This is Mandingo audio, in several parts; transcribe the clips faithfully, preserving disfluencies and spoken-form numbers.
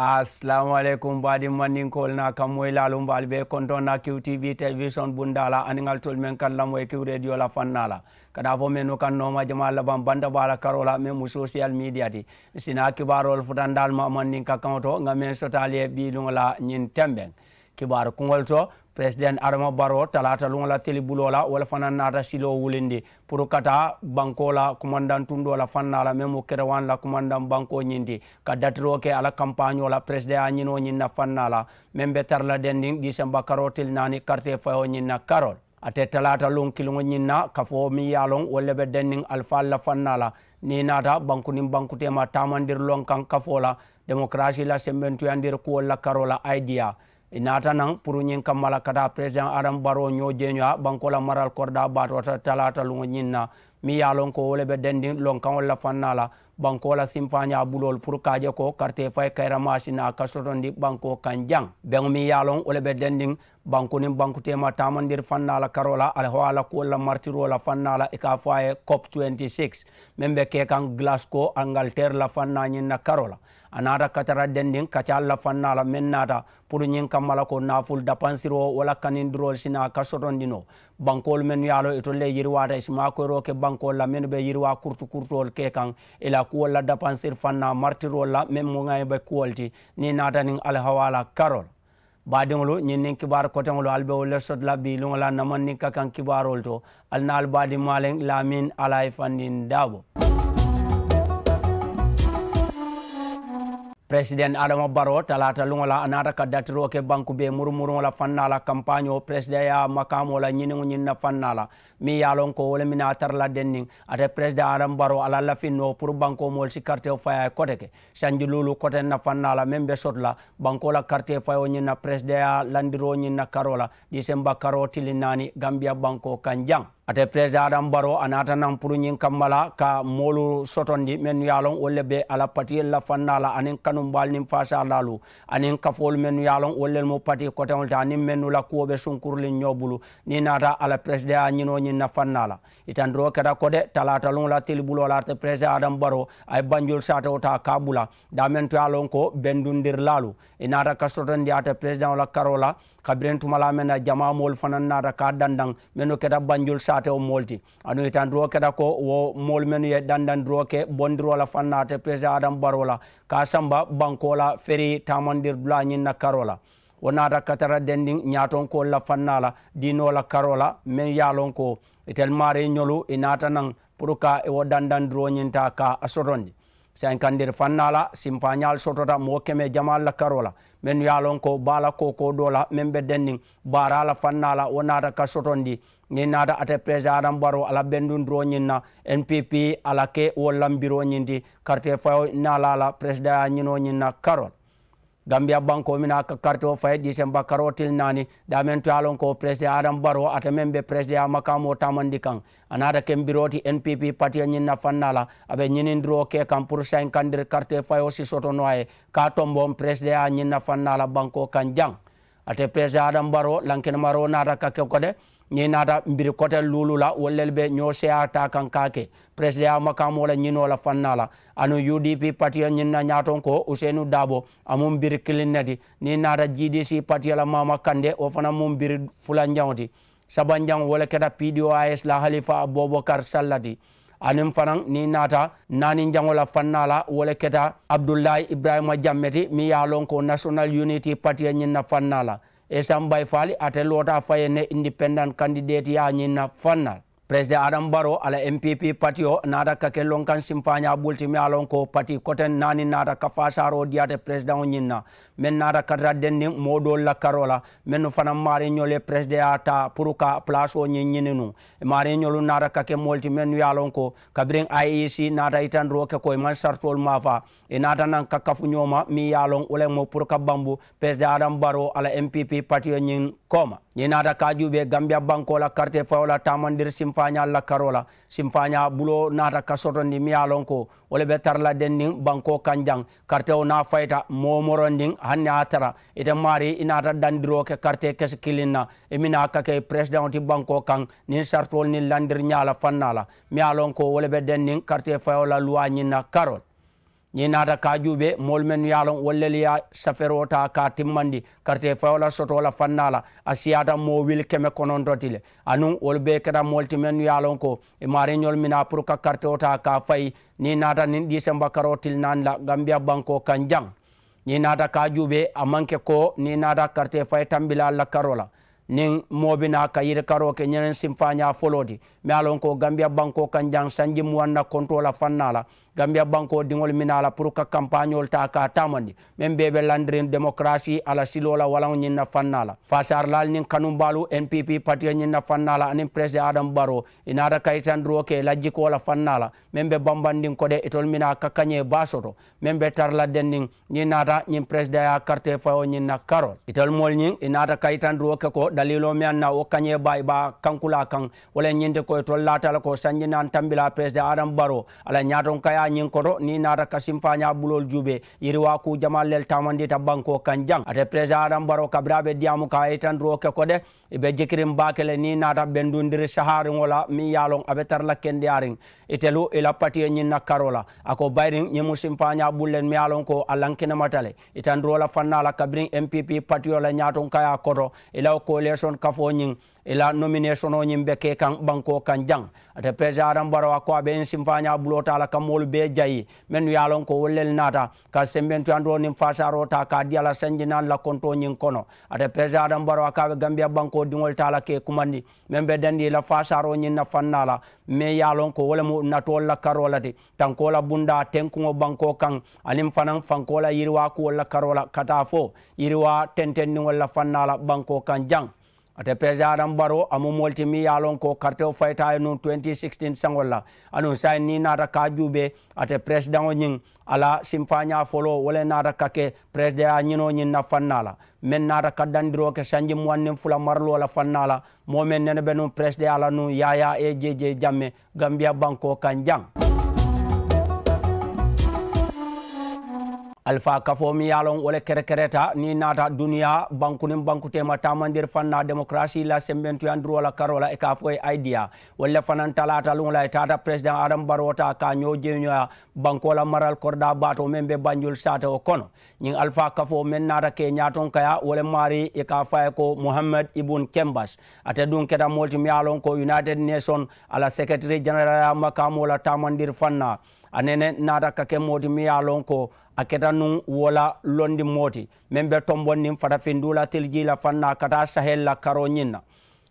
Asalaamu aleykum baadiŋ mandinkoolu naa kammoyilaalu mbe ali be kontoŋ na kiw tv telewisoŋ bundaa la aniŋ ali tolu meŋ kaŋ lamoyi kiw rediyo la fannaa la. Ka daa fo mennu kaŋ nooma jamaa labaŋ banta baa la karoo la meŋ mu sosiyal midiya ti. Nsi naa kibaaroolu futandi ali ma mandinka kaŋo to ŋa meŋ soto ali ye bii luŋo la ñiŋ tembeŋ kibaaru kuŋolu to. Peresidenti adama baroo talaata luŋo la tili buloo la wo le fanaŋ naata siloo wulindi puru ka taa bankoo la kumandaŋ tundoo la fannaa la meŋ mu kerewaani la kumandaŋ bankoo ñiŋ ti ka datiroo ke a la kampaañoo la peresideyaa ñinoo ñiŋ na fannaa la meŋ be tara la dendiŋ diisemba karoo tili naani karitee fayoo ñiŋ na karoo la. Ate talaata luŋ kiliŋo ñiŋ na kafoo meŋ ye a loŋ wolu le be dendiŋ alifaalu la fannaa la. Niŋ i naata banku niŋ bankuteema taamandiri loŋ kaŋ kafoo la demokarasii la sembentuyandiri kuwolu la karoo la ayidiyaa i naata naŋ puru ñiŋ kamma la ka taa peresideŋ adamu baroo ñoo jeeñoya bankoo la maral koridaa baatoota talaata luŋo ñiŋ na meŋ ye a loŋ ko wo le be dendiŋ lonkaŋolu la fannaa la bankoo la simfaañaa buloolu puru ka a je ko karitee fayi kayiramaasi naa ka sotondi bankoo kaŋ jaŋ. Beŋo meŋ ye a loŋ wo le be dendiŋ banku niŋ bankuteema taamandiri fannaa la karoo la alihawaa la kuwolu la maritiroo la fannaa la i ka a fo a ye cop twenty six meŋ be kee kaŋ gilasikoo angaliteeri la fannaa ñiŋ na karoo la. A naata ka tara dendiŋ kacaalu la fannaa la meŋ naata puru ñiŋ kamma la ko naafulu dapansiroo wo la kanindiroolu si naa ka sotondi noo. Bankoolu mennu ye a loŋ itolu le yiriwaata i si maakoyiroo ke bankoolu la mennu be yiriwaa kurutu kurutoolu ke kaŋ i la kuwolu la dapansiri fannaa maritiroolu la meŋ mu ŋa i be kuwolu ti. Niŋ i naata niŋ alihawaa la karoo la baadiŋolu ñiŋ niŋ kibaaru koteŋolu ali be wolu le soto la bii luŋo la namandinka kaŋ kibaaroolu to. Ali naa ali baadiŋ maaleŋ laamin alaayi fandin daabo. Peresidenti adama baroo talaata luŋo la a naata ka datiroo ke banku bee murumuruŋo la fannaa la kampaañoo peresideyaa makaamoo la ñiniŋo ñiŋ na fannaa la meŋ ye a loŋ ko wo le mina a tara la denniŋ. Ate peresideŋ adama baroo a la lafinnoo puru bankoo moolu si karitewo fayi a ye kote ke sanji luulu koteŋ na fannaa la meŋ be soto la bankoo la karitee fayoo ñiŋ na peresideyaa landiroo ñiŋ na karoo la diisemba karoo tili naani gambiya bankoo kaŋ jaŋ. Ate peresideŋ adamu baroo a naata naŋ puru ñiŋ kamma la ka moolu sotondi mennu ye a loŋ wolu le be a la patiyolu la fannaa la aniŋ kanumbaalu niŋ faasaalaalu aniŋ kafoolu mennu ye a loŋ wolu lelu mu patii koteŋolu ti aniŋ mennu la kuwo be sunkuriliŋ ñoo bulu. Niŋ i naata a la peresideŋ a ñinoo ñiŋ na fannaa la i tandiroo keta ko de talaata luŋo la tili buloo la ate peresideŋ adamu baroo a ye banjulu saatewo taa ka a bula daameŋ to ye a loŋ ko bendundirilaalu i naata ka sotondi ate peresideŋo la karoo la. Kabiriŋ tumalaa meŋ na jamaa moolu fanaŋ naata ka a dandaŋ mennu keta banjulu saatewo moolu ti aduŋ i tandiroo keta ko wo moolu mennu ye dandandiroo ke bondiroo la fannaa ate peresideŋ adamu baroo la ka a samba bankoo la ferii taamandiri dulaa ñiŋ na karoo la. Wo naata ka tara dendiŋ ñaatonkoolu la fannaa la diinoo la karoo la meŋ ye a loŋ ko itelu maarii ñolu i naata naŋ puru ka i wo dandandiroo ñiŋ taa ka a sotondi. Sayinkandiri fannaa la simfaañaalu sotota moo keme jamaalu la karoo la mennu ye a loŋ ko baa la kookoo doo la meŋ be denniŋ baaraa la fannaa la wo naata ka sotondi. Niŋ naata ate peresidaŋ adamu baroo a la bendundiroo ñiŋ na n p p a la ke wo lambiroo ñiŋ ti karitee fayoo naalaa la peresidaŋ ye a ñinoo ñiŋ na karoo la. Gambiya bankoo mina ka karitewo fayi diisemba karoo tili naani daameŋ to ye a loŋ ko peresideŋ adamu baroo ate meŋ be peresideŋ makaamoo taamandi kaŋ a naata ke mbiroo ti n p p patiyo ñiŋ na fannaa la a be ñinindiroo ke kaŋ puru sayinkandiri karitee fayoo si soto noo a ye ka a tomboŋ peresideŋ ñiŋ na fannaa la bankoo kaŋ jaŋ. Ate peresideŋ adamu baroo lankinimaroo naata ka ke ko de ñiŋ naata mbiri kote luulu la wolu lelu be ñoo seeyaa taa kaŋ ka a ke peresideŋ makaamoo la ñinoo la fannaa la. Anuŋ u d p patiyo ñiŋ na ñaatoŋ ko useyinu daabo a mu mbiri kiliŋ ne ti. Niŋ i naata g d c patiyo la maama kande wo fanaŋ mu mbiri fulanjaŋo ti. Sabanjaŋo wo le keta p d o i s la halifa abubakar salla ti. Aniŋ fanaŋ niŋ i naata naaninjaŋo la fannaa la wo le keta abdullahi ibrahima jamme ti meŋ ye a loŋ ko nasonal uniti patiyo ñiŋ na fannaa la. Esan bayifaali ate loota a faye ne indipendent kandidetiyaa ñiŋ na fannaa la. Peresideŋ adamu baroo a la n p p patiyo naata ka ke lonkaŋ simfaañaa bulu ti meŋ ye a loŋ ko pati koteŋ naani naata ka faasaaroo dii ate peresideŋo ñiŋ na. Meŋ naata ka tara denniŋ moo doolu la karoo la mennu fanaŋ maariiñolu ye peresideŋyaa taa puru ka palaasoo ñiŋ ñini nuŋ. Maariiñolu naata ka ke moolu ti mennu ye a loŋ ko kabiriŋ i e c naata yitandiroo ke ko i maŋ saritoolu maafa. I naata naŋ ka kafu ñoo ma meŋ ye a loŋ wo le mu puru ka bambu peresideŋ adamu baroo a la n p p patiyo ñiŋ kooma. Niŋ i naata ka a juubee gambiya bankoo la karitee fayoo la taamandiri simfaañaalu la karoo la simfaañaa buloo naata ka sotondi meŋ ye a loŋ ko wo le be tara la denniŋ bankoo kaŋ jaŋ. Karitewo niŋ a fayita moo morondiŋ hani a ye a tara ite maarii i naata dandiroo ke karitee kesi kiliŋ na i mina ka ke peresideŋo ti bankoo kaŋ niŋ saritoolu niŋ landiriñaa la fannaa la meŋ ye a loŋ ko wo le be denniŋ karitee fayoo la luwaa ñiŋ na karoo la. Niŋ i naata ka a juubee, moolu mennu ye a loŋ wolu lelu ye safeeroo taa ka a timmandi karitee fayoo la sotoo la fannaa la, a siyaata moo wili keme kononto ti le. Anuŋ wolu bee keta moolu ti mennu ye a loŋ ko i maariiñoolu minaa puru ka karitewo taa ka a fayi. Niŋ i naata niŋ diisemba karoo tili naani la gambiya bankoo kaŋ jaŋ, niŋ i naata ka a juubee, a maŋ ke ko niŋ i naata karitee fayi tambilaalu la karoo la, niŋ moo bi naa ka yirikaroo ke ñiŋ simfaañaa foloo ti. Meŋ ye a loŋ ko gambiya bankoo kaŋ jaŋ sanji muwaŋ na kontoo la fannaa la, gambiya bankoo diŋolu minaa la puru ka kampaañoolu taa ka a taamandi. Meŋ bee be landiriŋ demokarasii a la siloo la walaŋo ñiŋ na fannaa la, faasaarilaalu niŋ kanumbaalu n p p patiyo ñiŋ na fannaa la aniŋ peresidaŋ adamu baroo, i naata ka yitandiroo ke i la jikoo la fannaa la meŋ be bambandiŋ ko de itolu minaa ka kañee baa soto meŋ be tara la denniŋ. Niŋ i naata ñiŋ peresidaŋyaa karitee fayoo ñiŋ na karoo la, itolu moolu ñiŋ i naata ka yitandiroo ke ko daliiloo meŋ ye a na wo kañee baa i be a kankulaa kaŋ. Wo le ñiŋ ti ko itolu laata le ko sanji naani tambilaa peresidaŋ adamu baroo a la ñaatonkayaa ñiŋ koto niŋ i naata ka simfaañaa buloolu juubee, yiriwaa kuu jamaalu le taamandiita bankoo kaŋ jaŋ. Ate peresidaŋ adamu baroo kabiriŋ a be diyaamu kaŋ a ye yitandiroo ke ko de i be jikiriŋ baake le niŋ i naata bendundiri sahaariŋo la meŋ ye a loŋ a be tara la kendeyaariŋ itelu i la patiyo ñiŋ na karoo la. A ko bayiriŋ ñiŋ mu simfaañaa bulu le meŋ ye a loŋ ko a lankinemata le. Yitandiroo la fannaa la kabiriŋ m p p patiyo la ñaatonkayaa koto, i la wo koleesoŋ kafoo ñiŋ i la nomineesonoo ñiŋ be ke kaŋ bankoo kaŋ jaŋ. Ate peresidaŋ adamu baroo a ko a be ñiŋ simfaañaa buloo taa la ka moolu bee jayi mennu ye a loŋ ko wolu lelu naata ka sembentuyandoo niŋ faasaaroo taa ka a dii a la sanji naani la kontoo ñiŋ kono. Ate peresidaŋ adamu baroo a ko a be gambiya bankoo diŋolu taa la ka i kumandi meŋ be dandi i la faasaaroo ñiŋ na fannaa la meŋ ye a loŋ ko wo le mu natoolu la karoo le ti, tankoo la bundaa tenkuŋo bankoo kaŋ aniŋ fanaŋ fankoo la yiriwaa kuwolu la karoo la ka taa fo yiriwaa tentendiŋolu la fannaa la bankoo kaŋ jaŋ. Ate peresidaŋ adamu baroo a mu moolu ti meŋ ye a loŋ ko karitewo fayita a ye nuŋ twenty sixteen saŋolu la. Anuŋ saayiŋ niŋ i naata ka a juubee, ate peresidaŋo ñiŋ a la simfaañaa foloo wo le naata ka ke peresidaŋyaa ñinoo ñiŋ na fannaa la meŋ naata ka dandiroo ke sanji muwaŋ niŋ fula mariloo la fannaa la. Moo meŋ nene be nuŋ peresidaŋyaa la nuŋ yaayaa a ye jee jee jaŋ meŋ gambiya bankoo kaŋ jaŋ. Alifaa kafoo meŋ ye a loŋ wo le kerekereta niŋ i naata duniyaa banku niŋ bankuteema taamandiri fannaa demokarasii la sembentuyandiroo la karoo la i ka a fo i ye aidiya. Wolu le fanaŋ talaata luŋo la i taata peresidaŋ adamu baroo taa ka a ñoo jeeñoyaa bankoo la marali koridaa baatoo meŋ be banjulu saatewo kono. Ñiŋ alifaa kafoo meŋ naata ka i ñaatonkayaa wo le maarii i ka a fo a ye ko muhammad ibun kembas. Ate duŋ keta moolu ti meŋ ye a loŋ ko united nation a la seketiri jeneralaa makaamoo la taamandiri fannaa. A nene naata ka ke moo ti meŋ ye a loŋ ko a keta nuŋ wo la londi moo ti meŋ be tombondiŋ fatafinduŋ la tilijii la fannaa ka taa saheli la karoo ñiŋ na.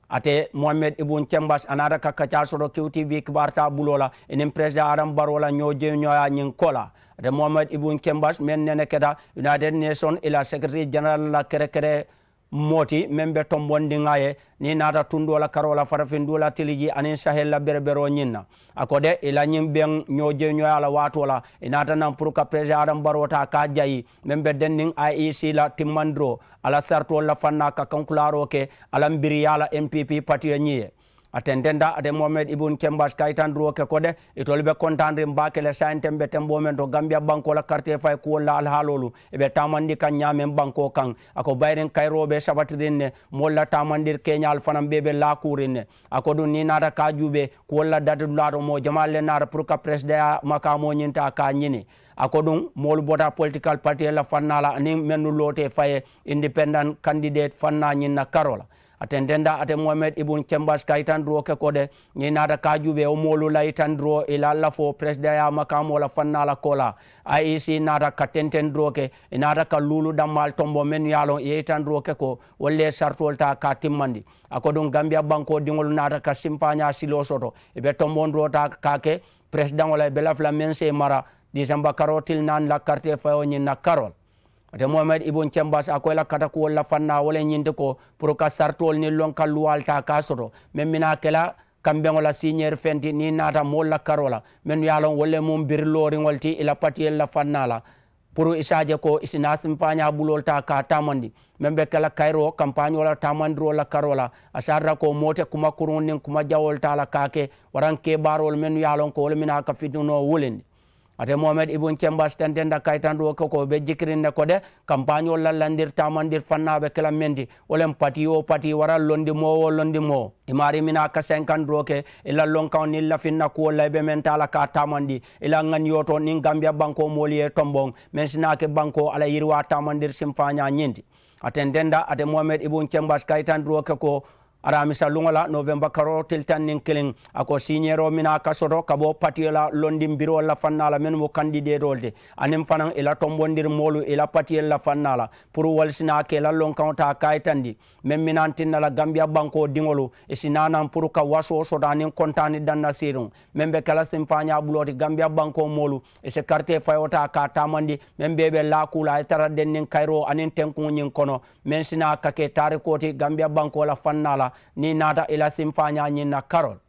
Ate muhammad ibun kembas a naata ka kacaa soto kiw t v kibaaru taa buloo la i niŋ peresidaŋ adamu baroo la ñoo jeeñooyaa ñiŋ ko la. Ate muhammad ibun kembas meŋ nene keta united nation i la seketiri jeneral la kerekere moo ti meŋ be tombondiŋ a ye niŋ i naata tundoo la karoo la fatafinduŋ la tilijii aniŋ saheli la bereberoo ñiŋ na. A ko de i la ñiŋ beŋ ñoo jeeñooyaa la waatoo la i naata naŋ puru ka peresidaŋ adamu baroo taa ka a jayi meŋ be denniŋ i e c la timmandiroo a la saritoolu la fannaa ka kankulaaroo ke a la mbiriyaa la m p p patiyo ñiŋ ye. A tententa ate muhammad ibun kembas ka yitandiroo ke ko de itolu be kontaaniriŋ baake le saayiŋ tembe temboo meŋ to gambiya bankoo la karitee fayi kuwolu la alihaaloolu i be taamandi kaŋ ñaameŋ bankoo kaŋ. A ko bayiriŋ kayiroo be sabatiriŋ ne moolu la taamandiri keeñaalu fanaŋ bee be laakuuriŋ ne. A ko duŋ niŋ i naata ka a juubee kuwolu la dati dulaa to moo jamaalu le naata puru ka peresidaŋyaa makaamoo ñiŋ taa ka a ñini. A ko duŋ moolu bota politikal patiyolu la fannaa la aniŋ mennu loota i faye indipendaŋ kandideeti fannaa ñiŋ na karoo la. A tententa ate muhammad ibun kembas ka yitandiroo ke ko de niŋ i naata ka a juubee wo moolu la yitandiroo i la lafoo peresidaŋyaa makaamoo la fannaa la koolaa. I e c naata ka tentendiroo ke i naata ka luulu dammaalu tombo mennu ye a loŋ i ye yitandiroo ke ko wolu le ye saritoolu taa ka a timmandi. A ko duŋ gambiya bankoo diŋolu naata ka simfaañaa siloo soto i be tombondiroo taa ka a ke peresidaŋo la i be lafi la meŋ se i mara diisemba karoo tili naani la karitee fayoo ñiŋ na karoo la. Ate muhammad ibun kembas a ko i la katakuwolu la fannaa wo le ñiŋ ti ko puru ka saritoolu niŋ loŋ ka luwaalu taa ka a soto meŋ bi naa ke la kambeŋo la siiñeeri feŋ ti niŋ i naata moolu la karoo la mennu ye a loŋ wolu le mu mbiri looriŋolu ti i la patiyolu la fannaa la. Puru i si a je ko i si naa simfaañaa buloolu taa ka a taamandi meŋ be ke la kayiroo kampaañoo la taamandiroo la karoo la. A si a tara ko moo te kuma kuruŋo niŋ kuma jawoolu taa la ka a ke waraŋ kebaaroolu mennu ye a loŋ ko wolu minaa ka fitinoo wulindi. Ate mohamed ibun cembas tententa kayitandiwo ke ko be jikiriŋ ne ko de, kampaañoo la landiri taamandiri fannaa be ke la meŋ ti, wo le mu patii wo patii wara londi moo wo londi moo. I maarii minaa ka senkandiroo ke i la lonkaŋo niŋ lafinna kuwo la i be meŋ taa la ka a taamandi i la ŋaniyootoo niŋ gambiya bankoo moolu ye tomboŋ, meŋ si naa ke bankoo a la yiriwaa taamandiri simfaañaa ñiŋ ti. A tententa ate mohamed ibun cembas kayitandiroo ke ko, aramisa luŋo la novemba karoo tili taŋ niŋ kiliŋ, a ko siiñeeroo minaa ka soto ka bo patiyo la londiŋ biroolu la fannaa la mennu mu kandideetoolu ti, aniŋ fanaŋ i la tombondiri moolu i la patiyolu la fannaa la, puru wolu si naa ka i la lonkaŋo taa kayitandi meŋ minantinna la gambiya bankoo diŋolu, i si naa naŋ puru ka wasoo soto aniŋ kontaani danna siiriŋo meŋ be ke la simfaañaa buloo ti gambiya bankoo moolu, i si karitee fayoo taa ka a taamandi meŋ bee be laakuu la a ye tara denniŋ kayiroo aniŋ tenkuŋo ñiŋ kono, meŋ si naa ka ke taarikoo ti gambiya bankoo la fannaa la. Niŋ i naata i la simfaañaa ñiŋ na karoo la,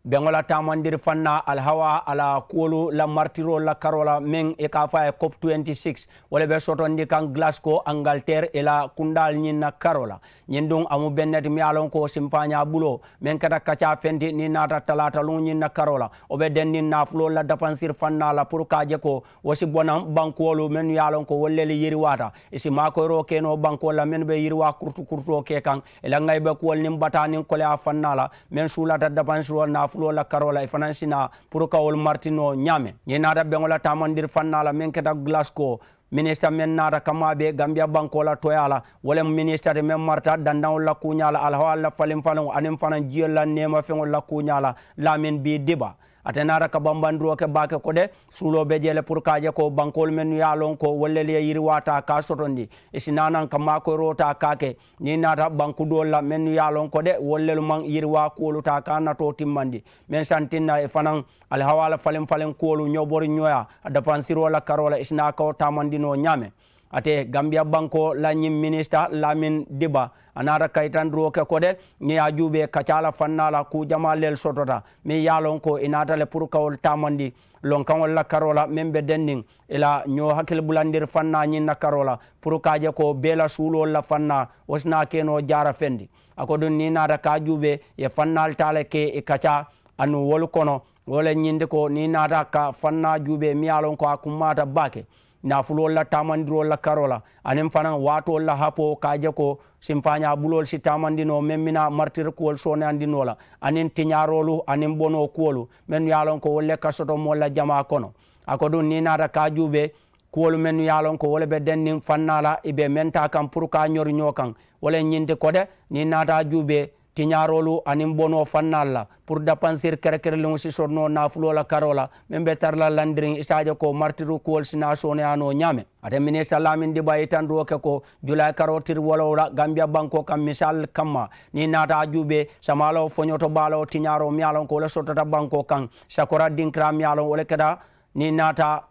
beŋo la taamandiri fannaa alihawaa a la kuwolu la maritiroolu la karoo la meŋ i ka a fo a ye cop twenty six, wo le be sotondi kaŋ glasiko angaliteeri i la kundaalu ñiŋ na karoo la. Ñiŋ duŋ a mu beŋ ne ti miŋ ye a loŋ ko simfaañaa buloo meŋ keta kacaa feŋ ti niŋ i naata talaata luŋo ñiŋ na karoo la, wo be denniŋ naafuloolu la dapansiri fannaa la puru ka a je ko wo si bo naŋ bankuwolu mennu ye a loŋ ko wolu le yiriwaata, i si maakoyiroo ke noo bankuwolu la mennu be yiriwaa kurutu kurutoo ke kaŋ, i la ŋayibe kuwolu niŋ bataa niŋ koleyaa fannaa la meŋ suulata dapansiroo naafuloolu la karoo la i fanaŋ si naa puru ka wolu mariti noo ñaameŋ. Niŋ i naata beŋo la taamandiri fannaa la meŋ keta glasiko, minisita meŋ naata kammaa bee gambiya bankoo la tooyaa la, wo le mu minisita ti meŋ marita dandaŋolu la kuuñaa la alihawaalu la faliŋ faliŋo aniŋ fanaŋ jiyolu la neema feŋolu la kuuñaa la, laamin bii diba. Ate naata ka bambandiroo ke baake ko de, suuloo be jee le puru ka a je ko bankoolu mennu ye a loŋ ko wolu lelu ye yiriwaa taa ka a sotondi, i si naa naŋ ka maakoyiroo taa ka a ke niŋ i naata banku doolu la mennu ye a loŋ ko de wolu lelu maŋ yiriwaa kuwolu taa ka a natoo timmandi, meŋ santinna i fanaŋ alihawaa la faliŋ faliŋ kuwolu ñobori ñoyaa a dapansiroo la karoo la i si naa ka wo taamandi noo ñaameŋ. Ate gambiya bankoo la ñiŋ minisita laamin diba, a naata kayitandiroo ke ko de, niŋ i ye a juubee kacaa la fannaa la kuu jamaa lelu sotota meŋ ye a loŋ ko i naata le puru ka wolu taamandi lonkaŋolu la karoo la meŋ be denniŋ i la ñoo hakili bulandiri fannaa ñiŋ na karoo la, puru ka a je ko bee la suuloolu la fannaa wo si naa ke noo jaara fendi. A ko duŋ niŋ i naata ka a juubee i ye fannaalu taa le ke i kacaa anuŋ wolu kono. Wo le ñinti ko niŋ i naata ka fannaa juubee miŋ ye a loŋ ko a kummaata baake naafuloolu la taamandiroolu la karoo la aniŋ fanaŋ waatoolu la hapoo ka a je ko simfaañaa buloolu si taamandi noo meŋ mina maritiri kuwolu sooneyandi noo la aniŋ tiñaaroolu aniŋ bonoo kuwolu mennu ye a loŋ ko wolu le ka soto moolu la jamaa kono. A ko duŋ niŋ i naata ka a juubee kuwolu mennu ye a loŋ ko wo le be denniŋ fannaa la i be meŋ taa kaŋ puru ka a ñori ñoo kaŋ. Wo le ñinti ko de niŋ i naata a juubee tiñaaroolu aniŋ bonoo fannaalu la puru dapansiri kerekereliŋo si soto noo naafuloo la karoo la meŋ be tara la landiriŋ i si a je ko maritiri kuwolu si naa sooneyaa noo ñaameŋ. Ate minisita laamin diba ye itandiroo ke ko julayi karoo tiri wolowula gambiya bankoo kaŋ misaalu kamma niŋ i naata a juubee samaaloo foñoto baaloo tiñaaroo miŋ ye a loŋ ko wo le sotota bankoo kaŋ sakora dinkiraa miŋ ye a loŋ wo le keta niŋ i naata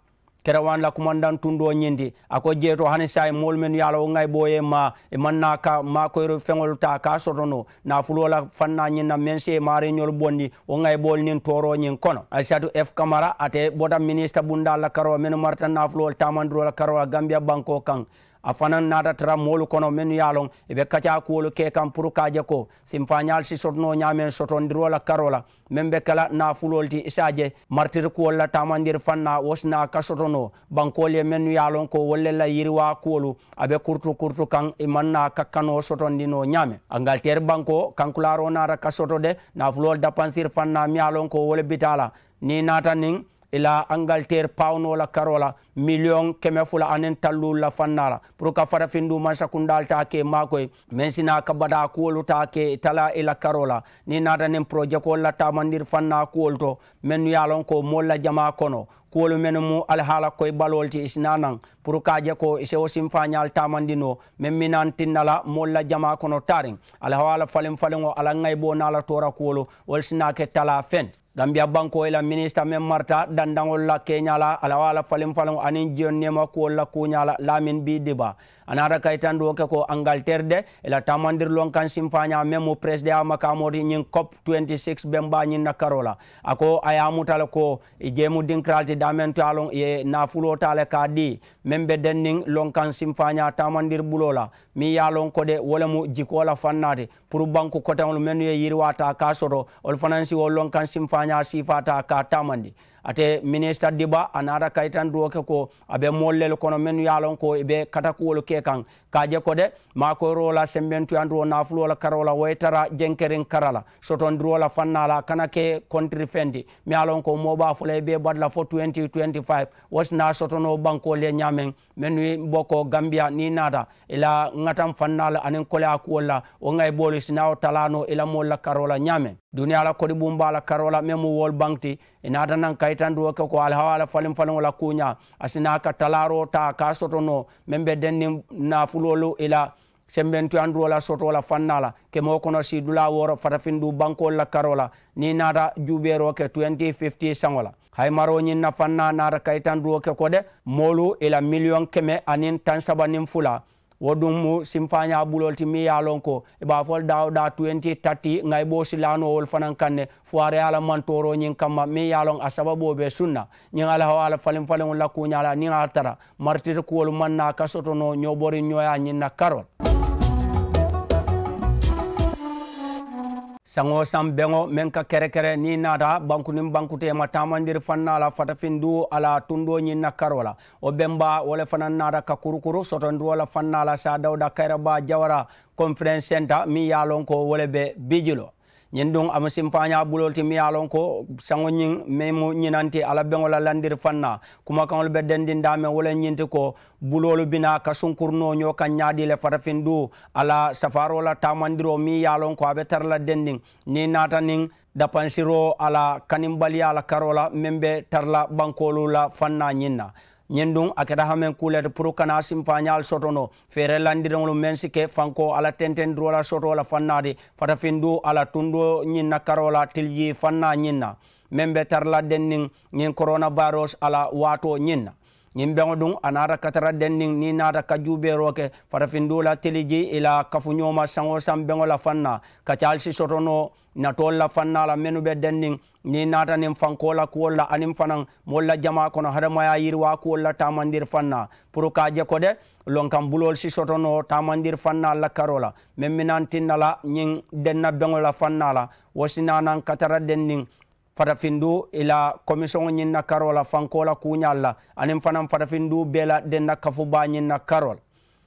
kerewaani la kumandaŋ tundoo ñiŋ ti. A ko jee to hani saayiŋ moolu mennu ye a la wo ŋayiboo ye maa i maŋ naa ka maakoyiri feŋolu taa ka a soto noo naafuloo la fannaa ñiŋ na meŋ si ye maariiñolu bondi wo ŋayiboolu niŋ tooroo ñiŋ kono. Aisatu f kamara ate bota minisita bundaalu la karoo mennu marata naafuloolu taamandiroo la karoo la gambiya bankoo kaŋ. A fanaŋ naata tara moolu kono mennu ye a loŋ i be kacaa kuwolu ke kaŋ puru ka a je ko simfaañaalu si soto noo ñaameŋ sotondiroo la karoo la meŋ be ke la naafuloolu ti i si a je maritiri kuwolu la taamandiri fannaa wo si naa ka soto noo bankoolu ye mennu ye a loŋ ko wolu le la yiriwaa kuwolu a be kurutu kurutu kaŋ i maŋ naa ka kanoo sotondi noo ñaameŋ. Angaliteeri bankoo kankulaaroo naata ka soto de naafuloolu dapansiri fannaa meŋ ye a loŋ ko wo le bitaa la niŋ i naata niŋ i la angaliteeri pawunoo la karoo la miliyoŋ keme fula aniŋ talluulu la fannaa la puru ka farafinduumansakundaalu taa ke maakoyi meŋ si naa ka bataa kuwolu taa ke i talaa i la karoo la niŋ i naata niŋ porojekoolu la taamandiri fannaa kuwolu to mennu ye a loŋ ko moolu la jamaa kono kuwolu mennu mu alihaala koyi baloolu ti i si naa naŋ puru ka a je ko i si wo simfaañaalu taamandi noo meŋ minantinna la moolu la jamaa kono taariŋ alihawaa la faliŋ faliŋo a la ŋayiboo naa la toora kuwolu wolu si naa ke talaa feŋ ti. Gambiya bankoo i la minisita meŋ marata dandaŋolu la keeñaa la alawaa la faliŋ faliŋo aniŋ jiyoŋ neema kuwolu la kuuñaa la laamin bii diba a naata ka itandiroo ke ko angaliteeri de i la taamandiri lonkaŋ simfaañaa meŋ mu peresideŋyaa makaamoo ti ñiŋ cop twenty six bembaa ñiŋ na karoo la. A ko a ye a muta le ko i jeemu dinkiraalu ti daameŋ to ye a loŋ i ye naafuloo taa le ka a dii meŋ be denniŋ lonkaŋ simfaañaa taamandiri buloo la meŋ ye a loŋ ko de wo le mu jikoo la fannaa ti puru banku koteŋolu mennu ye yiriwaa taa ka a soto wolu fanaŋ si wo lonkaŋ simfaañaa ñaa siifaata ka a taamandi. Ate minisita diba a naata kayitandiroo ke ko a be moolu lelu kono mennu ye a loŋ ko i be katakuwolu ke kaŋ ka a je ko de maakoyiroo la sembentuyandiroo naafuloo la karoo la wo ye tara jenkeriŋ kara la sotondiroo la fannaa la a kana ke kontiri feŋ ti. Meŋ ye a loŋ ko moo be a fo la i be i batu la fo twenty twenty five wo si naa soto noo bankoolu ye ñaameŋ mennu ye boko gambiya niŋ i naata i la ŋataŋ fannaa la aniŋ koleyaa kuwolu la wo ŋa i boolu si naa wo talaa noo i la moolu la karoo la ñaameŋ. Duniyaa la kodi buŋ be a la karoo la meŋ mu woolu baŋ ti i naata naŋ kayitandiroo ke ko alihawaa la faliŋ faliŋo la kuuñaa a si naa ka talaaroo taa ka a soto noo meŋ be denniŋ naafuloolu i la sembentuyandiroo la sotoo la fannaa la kemoo kono sii dulaa wooro fatafindu bankoolu la karoo la niŋ i naata juubeeroo ke twenty fifty saŋo la. Hayimaroo ñiŋ na fannaa naata kayitandiroo ke ko de moolu i la miliyoŋ keme aniŋ taŋ saba niŋ fula wo duŋ mu simfaañaa buloolu ti meŋ ye a loŋ ko i be a fo le daawudaa twenty thirty ŋa i be wo silaanoo wolu fanaŋ kaŋ ne fuwaareyaa la mantooroo ñiŋ kamma meŋ ye a loŋ a sababoo be sunna. Ñiŋ alihawaa la faliŋ faliŋolu la kuuñaa la niŋ a ye a tara maritiri kuwolu maŋ naa ka soto noo ñooboriŋ ñooyaa ñiŋ na karoo la. Saŋo saŋ beŋo meŋ ka kerekere niŋ i naata banku niŋ bankuteema taamandiri fannaa la fatafindu a la tundoo ñiŋ na karoo la wo bemba wo le fanaŋ naata ka kurukuru sotondiroo la fannaa la saa dawuda kayirabaa jawara konferensi senta meŋ ye a loŋ ko wo le be bijilo. Ñiŋ duŋ a mu simfaañaa buloolu ti meŋ ye a loŋ ko saŋo ñiŋ meŋ mu ñinanti a la beŋo la landiri fannaa kumakaŋolu be dendiŋ daameŋ wo le ñiŋ ti ko buloolu bi naa ka sunkurinoo ñoo kaŋ ñaadii le fatafindu a la safaaroo la taamandiroo meŋ ye a loŋ ko a be tara la dendiŋ niŋ i naata niŋ dapansiroo a la kanimbaliyaa la karoo la meŋ be tara la bankoolu la fannaa ñiŋ na. Ñiŋ duŋ a keta hameŋ kuu le ti puru kana simfaañaalu soto noo feere landiriŋolu meŋ si ke fankoo a la tentendiroo la sotoo la fannaa ti fatafindu a la tundoo ñiŋ na karoo la tilijii fannaa ñiŋ na meŋ be tara la denniŋ ñiŋ korona vayirus a la waatoo ñiŋ na. Ñiŋ beŋo duŋ a naata ka tara denniŋ niŋ i naata ka juubeeroo ke fatafindu la tiliji i la kafuñoo ma saŋo saŋ beŋo la fannaa ka caalu si soto noo natoolu la fannaa la mennu be denniŋ niŋ i naata niŋ fankoo la kuwolu la aniŋ fanaŋ moolu la jamaa kono hadamayaa yiriwaa kuwolu la taamandiri fannaa puru ka a je ko de lonkaŋ buloolu si soto noo taamandiri fannaalu la karoo la meŋ minaŋ tinna la ñiŋ denna beŋo la fannaa la wo si naanaŋ ka tara denniŋ fatafindu i la komisiyoŋo ñiŋ na karoo la fankoo la kuuñaalu la aniŋ fanaŋ fatafindu bee la denna kafu baa ñiŋ na karoo la.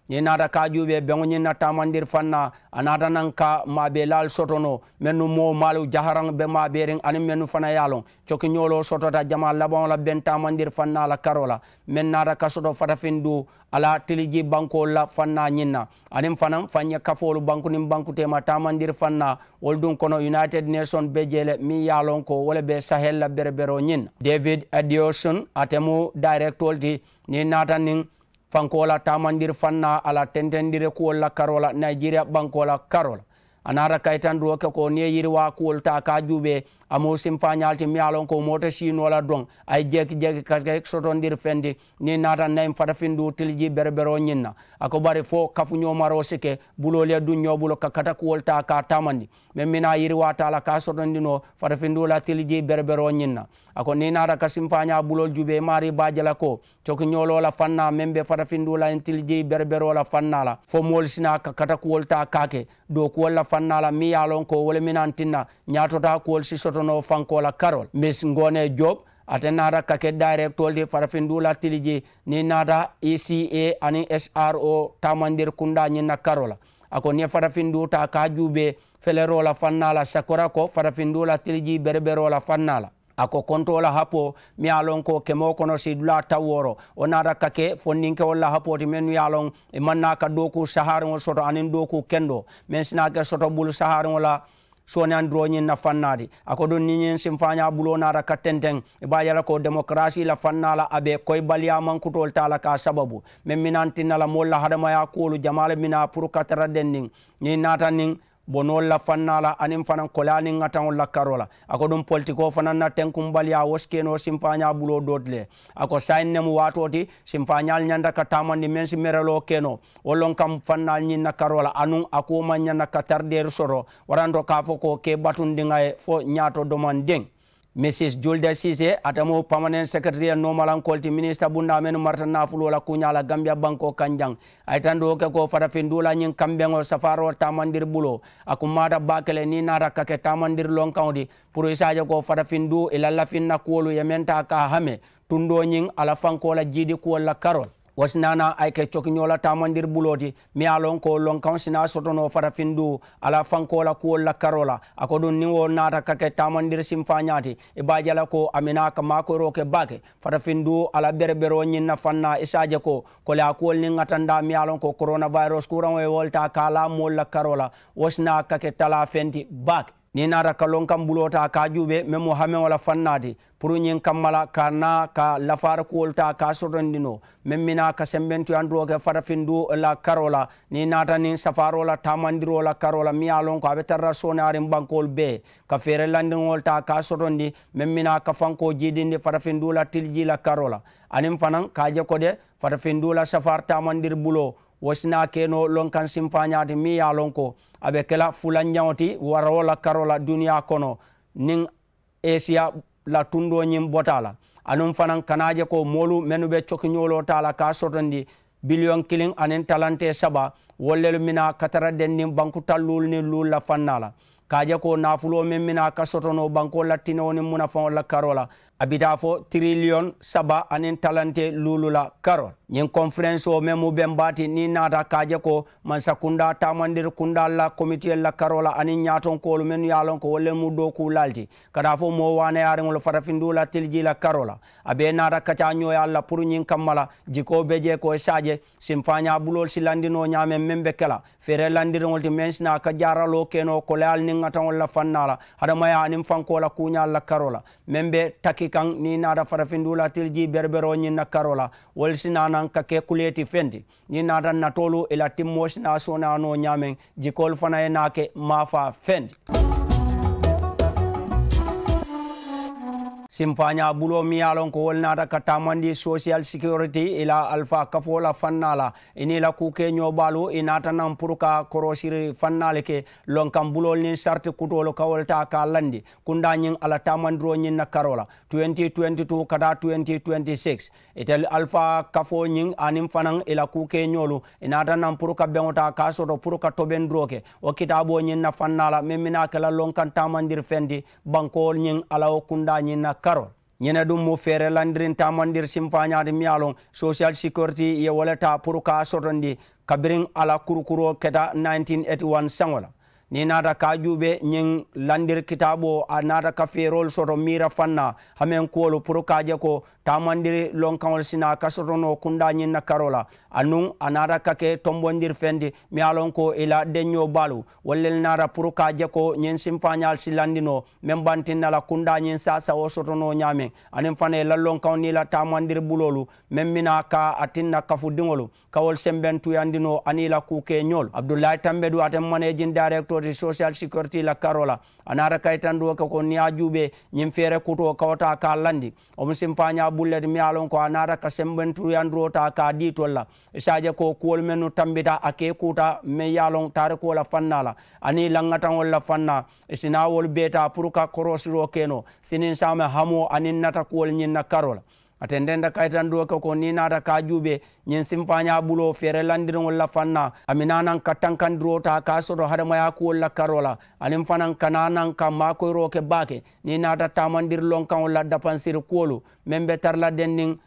Niŋ i naata ka a juubee beŋo ñiŋ na taamandiri fannaa a naata naŋ ka maabeelaalu soto noo mennu moo maalu jaharaŋ be maabeeriŋ aniŋ mennu fanaŋ ye a loŋ cokiñooloo sotota jamaa labaŋo la beŋ taamandiri fannaa la karoo la meŋ naata ka soto fatafindu a la tilijii bankoolu la fannaa ñiŋ na aniŋ fanaŋ faŋ ye kafoolu banku niŋ bankuteema taamandiri fannaa wolu duŋ kono united nation be jee le meŋ ye a loŋ ko wo le be sahel la bereberoo ñiŋ na. David adiosun ate mu dayirekitoolu ti niŋ i naata niŋ fankoo la taamandiri fannaa a la tentendiri kuwolu la karoo la nayijeriya bankoo la karoo la. A naata kayitandiroo ke ko niŋ i ye yiriwaa kuwolu taa ka a juubee a mu simfaañaalu ti meŋ ye a loŋ ko moo te siinoo la doŋ a ye jeeki jeeki ka ke sotondiri feŋ ti niŋ i naata nayiŋ fatafindu tilijii bereberoo ñiŋ na. A ko bari fo kafuñoo maroo si ke buloolu ye duŋ ñoo bulu ka katakuwolu taa ka a taamandi meŋ mina yiriwaata a la ka a sotondi noo fatafindu la tilijii bereberoo ñiŋ na. A ko niŋ i naata ka simfaañaa buloolu juubee i maarii be a je la ko cokiñooloo la fannaa meŋ be fatafindu la ñiŋ tilijii bereberoo la fannaa la fo moolu si naa ka katakuwolu taa ka a ke dookuwolu la fannaa la meŋ ye a loŋ ko wo le minaŋ tinna ñaatotaa kuwolu si soto noo fankoo la karoo la miss ngoone job ate naata ka ke dayirekitoolu ti fatafindu la tilijii niŋ i naata eca aniŋ sro taamandiri kundaa ñiŋ na karoo la. A ko niŋ i ye fatafindu taa ka a juubee feleroo la fannaa la sakora ko fatafindu la tilijii bereberoo la fannaa la. A ko kontoo la hapoo meŋ ye a loŋ ko kemoo kono siidulaa tawooro wo naata ka ke fondinkewolu la hapoo ti mennu ye a loŋ i maŋ naa ka dookuu sahaariŋo soto aniŋ dookuu kendoo meŋ si naa ke soto bulu sahaariŋo la sooneyandiroo ñiŋ na fannaa ti. A ko duŋ niŋ ñiŋ simfaañaa buloo naata ka tenteŋ i be a je la ko demokarasii la fannaa la a be koyibaliyaa mankutoolu taa la ka a sababu meŋ minaŋ tinna la moolu la hadamayaa kuwolu jamaa le minaa puru ka tara denniŋ niŋ i naata niŋ bonoolu la fannaa la aniŋ fanaŋ koleyaa niŋ ŋataŋolu la karoo la. A ko duŋ politikoo fanaŋ na tenkumbaliyaa wo si ke noo simfaañaa buloo doo ti le. A ko saayiŋ ne mu waatoo ti simfaañaalu ñanta ka taamandi meŋ si mereloo ke noo wo loŋ kaŋ fannaalu ñiŋ na karoo la anuŋ a kuwo maŋ ñaŋ na ka tarideeri soto waranto ka a fo ko ke batundiŋa ye fo ñaato domandiŋ. Misis julde siise ate mu pamanen sekeretariya noomalankolu ti minisita bundaa mennu marata naafuloo la kuuñaa la gambiya bankoo kaŋ jaŋ. A ye tandoo ke ko fatafinduula ñiŋ kambeŋo safaaroo taamandiri buloo a kummaata baake le niŋ i naata ka ke taamandiri lonkaŋo ti puru i se a je ko fatafinduu i la lafinna kuwolu ye meŋ taa ka a hame tundoo ñiŋ a la fankoo la jiidi kuwolu la karoo la. Wo si naa naa a ye ke cokiñoo la taamandiri buloo ti meŋ ye a loŋ ko lonkaŋo si naa soto noo fatafinduu a la fankoo la kuwolu la karoo la. A ko duŋ niŋ wo naata ka ke taamandiri sinfaañaa ti i be a je la ko a minaa ka maakoyiroo ke baake fatafinduu a la bereberoo ñiŋ na faŋ naa i se a je ko koleyaa kuwolu niŋ ŋatandaa meŋ ye a loŋ ko koronawayirus kuraŋo ye wo le taa ka a laa moolu la karoo la. Wo si naa ka ke talaa feŋ ti baake. Niŋ i naata ka lonkaŋ buloo taa ka a juubee meŋ mu hameŋo la faŋ naa ti puru ñiŋ kamma la ka a naa ka lafaari kuwolu taa ka a sotondi noo meŋ mi naa ka sembentuyandiroo ke fatafinduu la karoo la. Niŋ i naata niŋ safaaroo la taamandiroo la karoo la meŋ ye a loŋ ko a be tara la sooneyaariŋ bankoolu bee ka feere landiriŋolu taa ka a sotondi meŋ mi naa kafankoo jiidindi fatafinduu la tilijii la karoo la. Aniŋ fanaŋ ka a je ko de fatafinduu la safaari taamandiri buloo wo si naa ke noo lonkaŋ sinfaañaa ti meŋ ye a loŋ ko a be ke la fulanjaŋo ti waroo la karoo la duniyaa kono. Niŋ esiya la tundoo ñiŋ bota a la anuŋ fanaŋ kana a je ko moolu mennu be cokiñooloo taa la ka a sotondi biliyoŋ kiliŋ aniŋ talantee saba wolu lelu mina ka tara denniŋ banku talluulu niŋ luulu la fannaa la ka a je ko naafuloo meŋ mina ka soto noo bankoolu la tinewo niŋ munafaŋolu la karoo la a bi taa fo tiriliyoŋ saba aniŋ talantee luulu la karoo la. Ñiŋ konferensoo meŋ mu beŋ baa ti niŋ i naata ka a je ko mansa kundaa taamandiri kundaalu la komitiyolu la karoo la aniŋ ñaatonkoolu mennu ye a loŋ ko wolu le mu dookuulaalu ti ka taa fo moo waanayaariŋolu fatafindiŋo la tilijii la karoo la. A bee naata kacaa ñooyaalu la puru ñiŋ kamma la jikoo be jee ko i se a je sinfaañaa buloolu si landi noo ñaameŋ meŋ be ke la feere landiriŋolu ti meŋ si naa ka jaaraloo ke noo koleyaali niŋ ŋataŋolu la fannaa la hadamayaa aniŋ fankoo la kuuñaalu la karoo la meŋ be taki kaŋ niŋ i naata fatafindiŋo la tilijii bereberoo ñiŋ na karoo la wolu si naa naŋ ka ke kulee ti feŋ ti. Niŋ i naata natoolu i la timmoo si naa sooneyaa noo ñaameŋ jikoolu fanaŋ ye naa ke maafaa feŋ ti. Sinfaañaa buloo meŋ ye a loŋ ko wolu naata ka taamandi sosiyal sikiyoriti i la alifaa kafoo la fannaa la i niŋ i la kuukeeñoo baalu i naata naŋ puru ka koroosiri fannaa le ke lonkaŋ buloolu niŋ sariti kutoolu ka wolu taa ka a landi kundaa ñiŋ a la taamandiroo ñiŋ na karoo la twenty twenty two ka taa twenty twenty six. Itelu alifaa kafoo ñiŋ aniŋ fanaŋ i la kuukeeñoolu i naata naŋ puru ka beŋo taa ka a soto puru ka tobendiroo ke wo kitaaboo ñiŋ na fannaa la meŋ mi naa ke la lonkaŋ taamandiri feŋ ti bankoo ñiŋ a la wo kundaa ñiŋ na karoo. Ñiŋ ne duŋ mu feere landiriŋ taamandiri sinfaañaa ti meŋ ye a loŋ sosiyal sikiyoriti ye wo le taa puru ka a sotondi kabiriŋ a la kurukuroo keta nineteen eighty one saŋo la. Niŋ i naata ka a juubee ñiŋ landiri kitaaboo a naata ka feeroolu soto miira fannaa hameŋ kuwolu puru ka a je ko taamandiri lonkaŋolu si naa ka soto noo kundaa ñiŋ na karoo la anuŋ a naata ka ke tombondiri feŋ ti meŋ ye a loŋ ko i la deññoo baalu wolu le naata puru ka a je ko ñiŋ sinfaañaalu si landi noo meŋ bantiŋ na la kundaa ñiŋ saasawoo soto noo ñaameŋ aniŋ fanaŋ i la lonkaŋo niŋ i la taamandiri buloolu meŋ mi naa ka a tinna kafudiŋolu ka wolu sembeŋ tuyandi noo aniŋ i la kuukeeñoolu abdullahi tambedu ate maneejin dayirektoo ti sosiyal sikiyoriti la karoo la. A naata ka i tandiroo ke ko niŋ i ye a juubee ñiŋ feere kutoo ka wo taa ka a landi wo mu sinfaañaa bulu le ti meŋ ye a loŋ ko a naata ka sembeŋ tuyandiroo taa ka a dii tolu la i si a je ko kuwolu mennu tambita a ka i kuuta meŋ ye a loŋ taarikoo la fannaa la aniŋ i laŋŋataŋolu la fannaa i si naa wolu bee taa puru ka koroosiroo ke noo siniŋ saama hamoo aniŋ nata kuwolu ñiŋ na karoo la. A tententa kayitandoo ke ko niŋ i naata ka a juubee ñiŋ sinfaañaa buloo feere landiriŋolu la fannaa a mi naa naŋ ka tankandiroo taa ka a soto hadamayaa kuwolu la karoo la aniŋ fanaŋ ka naa naŋ ka maakoyiroo ke baake niŋ i naata taamandiri lonkaŋolu la dapansiri kuwolu meŋ be tara la denniŋ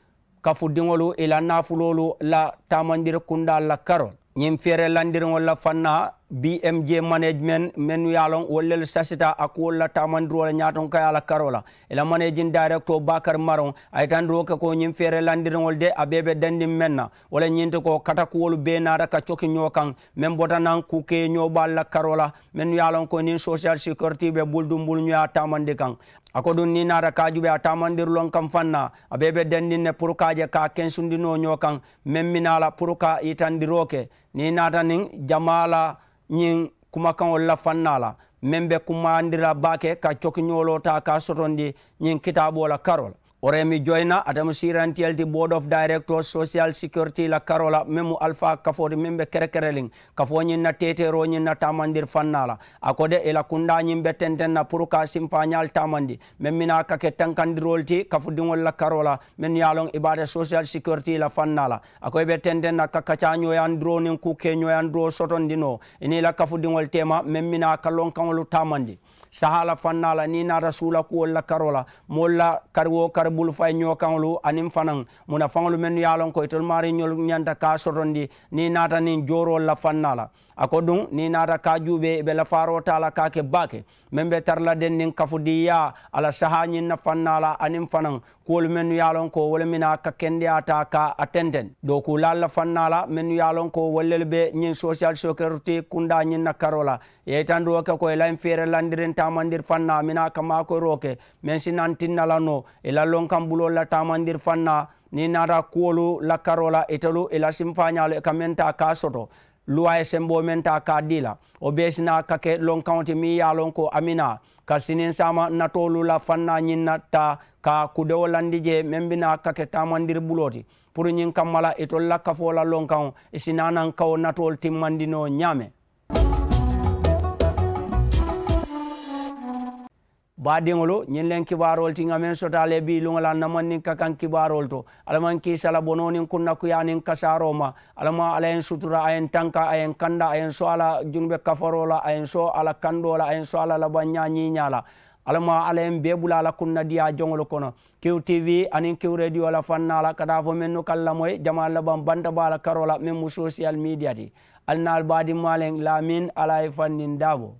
kafudiŋolu i la naafuloolu la taamandiri kundaalu la karoo la. Ñiŋ feere landiriŋolu la fannaa bmj management mennu ye a loŋ wolu lelu sasita a kuwolu la taamandiroo la ñaatonkayaa la karoo la. I la manejin dayirektoo bakari maroŋ a ye tandiroo ke ko ñiŋ feere landiriŋolu de a bee be dendiŋ meŋ na wo le ñiŋ ti ko katakuwolu bee naata ka coki ñoo kaŋ meŋ bota naŋ kuukeeñoo baalu la karoo la mennu ye a loŋ ko niŋ sosiyal sikiyoriti be bulu duŋ bulu ñoyaa taamandi kaŋ. A ko duŋ niŋ i naata ka a juubee a taamandiri loŋ kaŋ faŋ na a bee be dendiŋ ne puru ka a je ka a kensundi noo ñoo kaŋ meŋ mi naa la puru ka yitandiroo ke niŋ i naata niŋ jamaa la ñiŋ kumakaŋolu la faŋ naa la meŋ be kumayandi la baake ka cokiñooloo taa ka a sotondi ñiŋ kitaaboo la karoo la. Oremi joyina ate mu siirantiyel ti board of directors social security la karoo la meŋ mu alifaa kafoo ti meŋ be kerekereliŋ kafoo ñiŋ na teeteeroo ñiŋ na taamandiri fannaa la. A ko de i la kundaa ñiŋ be tenteŋ na puru ka a simfaañaalu taamandi meŋ minaa ka ke tankandiroolu ti kafudiŋolu la karoo la mennu ye a loŋ i be a te social security la fannaa la. A ko i be tenteŋ na ka kacaa ñooyandiroo niŋ kuu kee ñooyandiroo sotondi noo i niŋ i la kafudiŋolu teema meŋ minaa ka lonkaŋolu taamandi sahaa la fannaa la niŋ i naata suula kuwolu la karoo la moolu la kari wo kari bulu fayi ñookaŋolu aniŋ fanaŋ munafaŋolu mennu ye a loŋ ko itolu maariŋolu ñanta ka a sotondi niŋ i naata niŋ jooroolu la fannaa la. A ko duŋ niŋ i naata ka a juubee i be lafaaroo taa la ka a ke baake meŋ be tara la denniŋ kafudiiyaa a la sahaa ñiŋ na fannaa la aniŋ fanaŋ kuwolu mennu ye a loŋ ko wo le minaa ka kendeyaa taa ka a tenteŋ dookuulaalu la fannaa la mennu ye a loŋ ko wolu lelu be ñiŋ social security kundaa ñiŋ na karoo la i ye i tandiroo ke ko i la ñiŋ feerelandiriŋ taamandiri fannaa minaa ka maakoyiroo ke meŋ si naŋ tinna la noo i la lonkaŋ buloolu la taamandiri fannaa niŋ i naata kuwolu la karoo la itelu i la simfaañaalu i ka meŋ taa ka a soto luwaa ye semboo meŋ taa ka a dii la wo bee si naa ka ke lonkaŋo ti meŋ ye a loŋ ko a minaa ka siniŋ saama natoolu la fannaa ñiŋ na taa ka kudewo landi jee meŋ bi naa ka ke taamandiri buloo ti puru ñiŋ kamma la itolu la kafoo la lonkaŋo i si naa naŋ ka wo natoolu timmandi noo ñaame. Baadiŋolu ñiŋ leŋ kibaaroolu ti ŋa meŋ soto a la i bii luŋo la namanniŋ ka kaŋ kibaaroolu to. Alla maŋ kiisa la bonoo niŋ kunnakuyaa niŋ kasaaroo ma. Alla maŋ alla ye n sutura a ye n tanka a ye n kanda a ye n so a la junube kafaroo la a ye n so a la kandoo la a ye n so a la labaŋ ñaa ñiiñaa la. Alla maŋ alla ye n bee bula a la kunnadiyaa joŋolu kono. Kiw tv aniŋ kiw rediyo la fannaa la ka taa fo mennu ka n lamoyi jamaa labaŋ banta baa la karoo la meŋ mu sosiyal midiya ti. Ali naalu baadiŋ maaleŋ laamin alla ye fanniŋ daabo.